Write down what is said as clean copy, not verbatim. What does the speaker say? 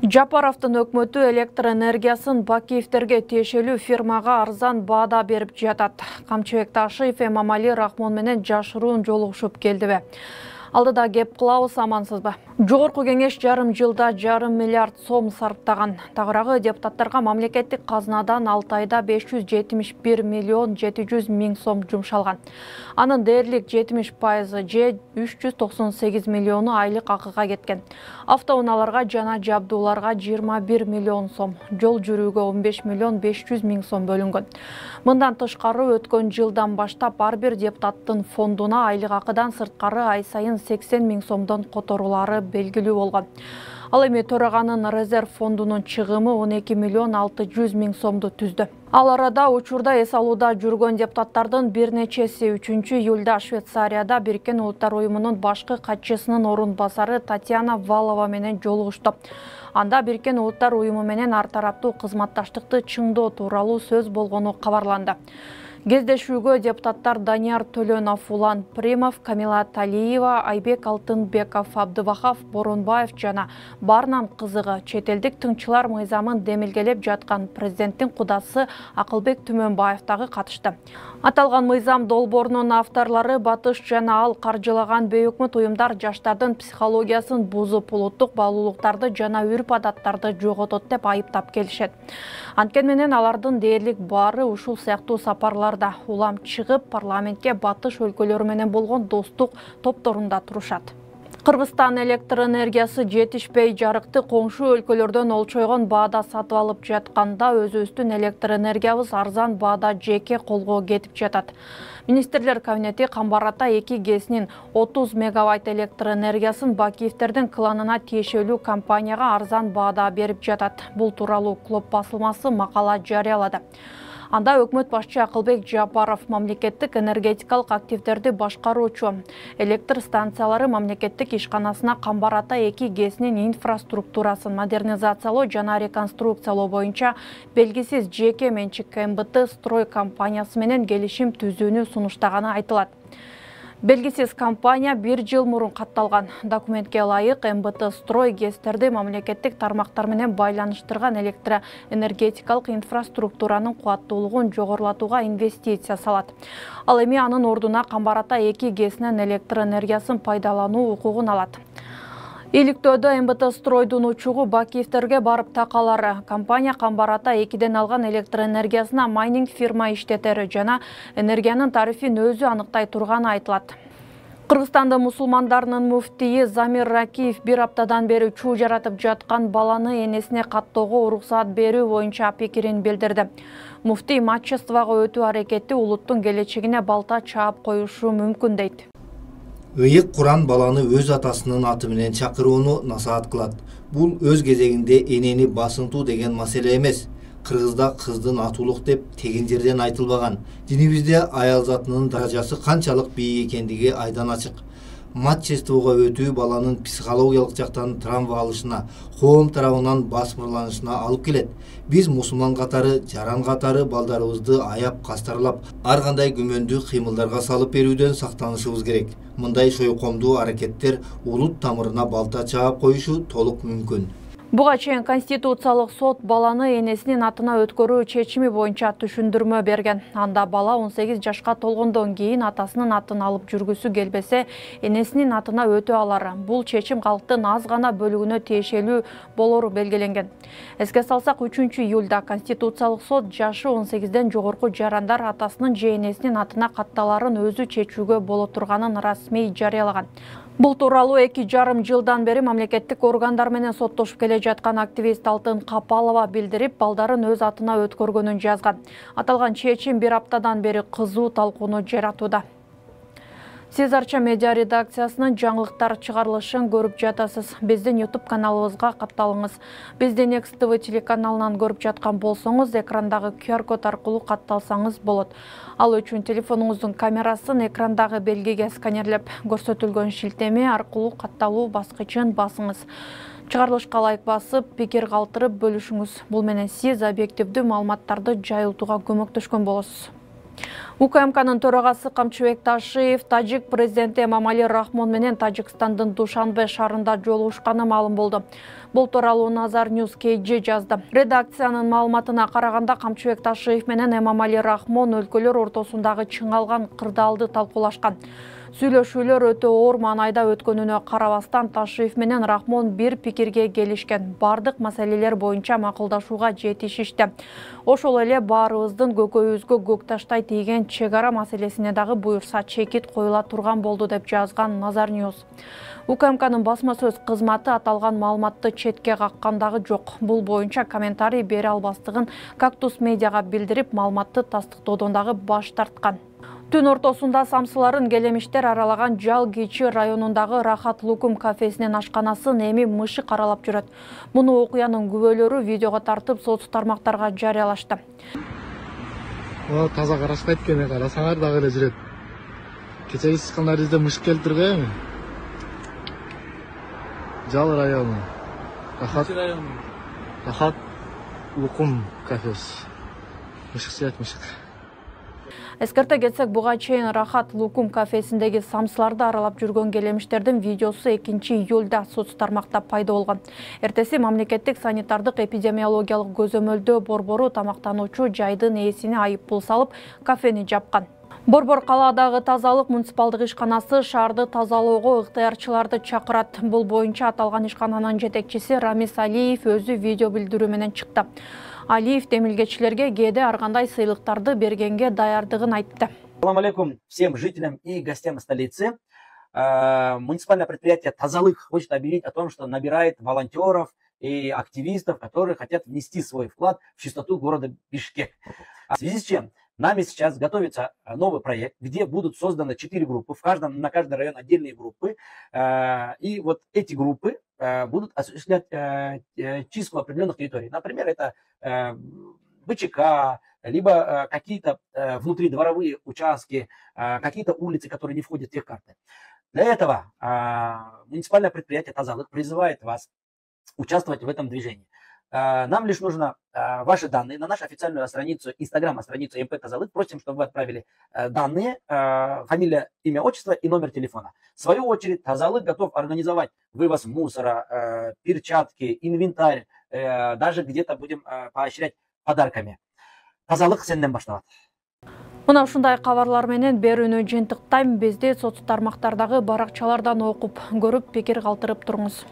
Жапаровдун өкмөтү электр энергиясын Бакиевтерге тиешелүү фирмага арзан баада берип жатат. Камчыбек Ташиев Эмомали Рахмон менен жашыруун жолугушуп келдиби? Алдыда кеп кылабыз, амансызбы? Жогорку кеңеш жарым жылда жарым миллиард сом сарптаган. Тагыраагы депутаттарга мамлекеттик казынадан 6 айда 571 миллион 700 миң сом жумшалган. Анын дээрлик 70% же 398 миллиону айлык акыга кеткен. Автоунааларга жана жабдууларга 21 миллион сом, жол жүрүүгө 15 миллион 500 миң сом бөлүнгөн. Мындан тышкары өткөн жылдан баштап ар бир депутаттын фондуна айлык акыдан сырткары ай сайын 80 миң сомдон которуулары белгилүү болгон. Ал эми төраганын резерв фондунун чыгымы 12 миллион 600 миң сомду түздү. Ал арада учурда эс алууда жүргөн депутаттардын бир нечеси 3-июлда Швейцарияда Бириккен Улуттар уюмунун башкы катчысынын орун басары Татьяна Валова менен жолугушту. Анда Бириккен Улуттар уюму менен ар тараптуу кызматташтыкты чыңдоо тууралуу сөз болгону кабарланды. Кездешүүгө депутаттар Данияр Төлөнов, Улан Примов, Камила Талиева, Айбек Алтынбеков, Абдывахов, Боронбаев жана баарынан кызыгы чет элдик тыңчылар мыйзамын демилгелеп жаткан президенттин кудасы Акылбек Түмөнбаев дагы катышты. Аталган мыйзам долбоорунун авторлору Батыш жана ал каржылаган бейөкмөт уюмдар жаштардын психологиясын бузуп, улуттук баалуулуктарды жана үрп-адаттарды жоготот деп айыптап келишет. Анткени менен алардын дээрлик баары ушул сыяктуу сапарларда улам чыгып, парламентке батыш өлкөлөрү менен болгон достук топторунда турушат. Кыргызстан электр энергиясы жетишпей жарыкты коңшу өлкөлөрдөн олчойгон баада сатып алып жатканда өзүбүздүн электр энергиябыз арзан баада жеке колго кетип жатат. Министрлер кабинети Камбар Ата 2 ГЭСинин 30 мегаватт электр энергиясын Бакиевтердин кланына тиешелүү компанияга арзан баада берип жатат. Бул тууралуу Клоп басылмасы макала жарыялады. Анда өкмөт башчы Акылбек Жапаров мамлекеттик энергетикалык активдерди башкаруучу электр станциялары мамлекеттик ишканасына Камбар Ата 2 ГЭСинин инфраструктурасын модернизациялоо жана реконструкциялоо боюнча белгисиз жеке менчик МБТ строй компаниясы менен келишим түзүүнү сунуштаганы айтылат. Белгисиз компания 1 жыл мурун катталган. Документке ылайык МБТ строй ГЭСтерди мамлекеттик тармактар менен байланыштырган электроэнергетикалык инфраструктуранын кубаттуулугун жогорулатууга инвестиция салат. Ал эми анын ордуна Камбар Ата 2 ГЭСинин электр энергиясын пайдалануу укугун алат. Иликтөөдө МБТ стройдун учугу Бакиевтерге барып такалары. Компания Камбар Ата 2ден алган электр энергиясына майнинг фирма иштетери жана энергиянын тарифин өзү аныктай турганы айтылат. Кыргызстандын мусулмандарынын муфтийи Замир Ракиев бир аптадан бери чуу жаратып жаткан баланы энесине каттоого уруксаат берүү боюнча пикирин билдирди. Муфтий матчествого өтүү аракети улуттун келечегине балта чаап коюшу мүмкүн дейт. Ыйык Куран баланы өз атасынын аты менен чакырууну насаат кылат. Бул өз кезегинде энени басынтуу деген маселе эмес. Кыргызда кыздын атуулук деп тегин жерден айтылбаган. Динибизде аял затынын даражасы канчалык бийик экендиги айдан ачык. Матчествого өтүү баланын психологиялык жактан травма алышына, коом тарабынан басмырланышына алып келет. Биз мусулман катары, жаран катары балдарыбызды аяп, кастарлап, ар кандай күмөндүү кыймылдарга салып берүүдөн сактанышыбыз керек. Мындай шойкомдуу аракеттер улут тамырына балта чаап коюшу толук мүмкүн. Буга чейин Конституциялык сот баланы энесинин атына өткөрүү чечими боюнча түшүндүрмө берген. Анда бала 18 жашка толгондон кийин атасынын атын алып жүргүсү келбесе, энесинин атына өтө алар. Бул чечим калктын аз гана бөлүгүнө тиешелүү болору белгиленген. Эске салсак, 3-июлда Конституциялык сот жашы 18ден жогорку жарандар атасынын же энесинин атына катталарын өзү чечүүгө боло турганын расмий жарыялаган. Бул тууралуу 2,5 жылдан бери мамлекеттик органдар менен соттошуп келе жаткан активист Алтын Капалова билдирип, балдарын өз атына өткөргөнүн жазган. Аталган чечим бир аптадан бери кызуу талкууну жаратууда. Сиз Арча медиа редакциясынын жаңылыктар чыгарылышын көрүп жатасыз. Биздин YouTube каналыбызга катталыңыз. Биздин Next TV телеканалынан көрүп жаткан болсоңуз, экрандагы QR-код аркылуу катталсаңыз болот. Ал үчүн телефонуңуздун камерасын экрандагы белгиге сканерлеп, көрсөтүлгөн шилтеме аркылуу катталуу баскычын басыңыз. Чыгарылышка лайк басып, пикир калтырып бөлүшүңүз. Бул менен сиз объективдүү маалыматтарды жайылтууга көмөктөшкөн болосуз. УКМКнын төрагасы Камчыбек Ташиев тажик президенти Эмомали Рахмон менен Тажикстандын Душанбе шаарында жолугушканы маалым болду. Бул тууралуу Назар News KG жазды. Редакциянын маалыматына караганда Камчыбек Ташиев менен Эмомали Рахмон өлкөлөр ортосундагы чыңалган кырдаалды талкуулашкан. Сүйлөшүүлөр өтө оор маанайда өткөнүнө карабастан Ташиев менен Рахмон бир пикирге келишкен. Бардык маселелер боюнча макулдашууга жетишишти. Ошол эле баарыбыздын көкөйүбүзгө көк таштай тийген чек ара маселесине дагы буюрса чекит коюла турган болду деп жазган Назар News. УКМКнын басма сөз кызматы аталган маалыматты четке каккан дагы жок. Бул боюнча комментарий бере албастыгын Кактус медиага билдирип, маалыматты тастыктоодон дагы баш тарткан. Түн ортосунда самсыларын келемиштер аралаган Жал Кичи районундагы Рахат Лукум кафесинин ашканасын эми мышык аралап жүрөт. Муну окуянын күбөлөрү видеого тартып соц тармактарга жарыялашты. Таза карашпайт экен, карасаңар дагы эле жүрөт. Кечеги сычкандарыбызда мышык келип турган. Жал району. Рахат Лукум кафес. Мышык сыят мышык. Эскерте кетсек, буга чейин Рахат Лукум кафесиндеги самсыларды аралап жүргөн келемиштердин видеосу 2-июлда соц тармакта пайда болгон. Эртеси мамлекеттик санитардык эпидемиологиялык көзөмөлдөө борбору тамактануучу жайдын ээсине айыппул салып, кафени жапкан. Борбор калаадагы тазалык муниципалдык ишканасы шаарды тазалоого ыктыярчыларды чакырат. Бул боюнча аталган ишкананын жетекчиси Рамис Алиев өзү видео билдирүү менен чыкты. Алиев демилгечилерге кээде ар кандай сыйлыктарды бергенге даярдыгын айтты. Салам алейкум всем жителям и гостям столицы. Муниципальное предприятие «Тазалык» хочет объявить о том, что набирает волонтеров и активистов, которые хотят внести свой вклад в чистоту города Бишкек. В связи с чем нами сейчас готовится новый проект, где будут созданы 4 группы, на каждый район отдельные группы. И вот эти группы будут осуществлять чистку определенных территорий. Например, это БЧК, либо какие-то внутридворовые участки, какие-то улицы, которые не входят в техкарты. Для этого муниципальное предприятие «Тазалык» призывает вас участвовать в этом движении. Нам лишь нужно ваши данные на нашу официальную страницу, инстаграм-страницу МП «Тазалык». Просим, чтобы вы отправили данные, фамилия, имя, отчество и номер телефона. В свою очередь, «Тазалык» готов организовать вывоз мусора, перчатки, инвентарь, даже где-то будем поощрять подарками. «Тазалык» сенден башталат. Мына ушундай кабарлар менен берүүнү жыйынтыктайм. Бизди соц тармактардагы баракчалардан окуп, көрүп, пикир калтырып туруңуз.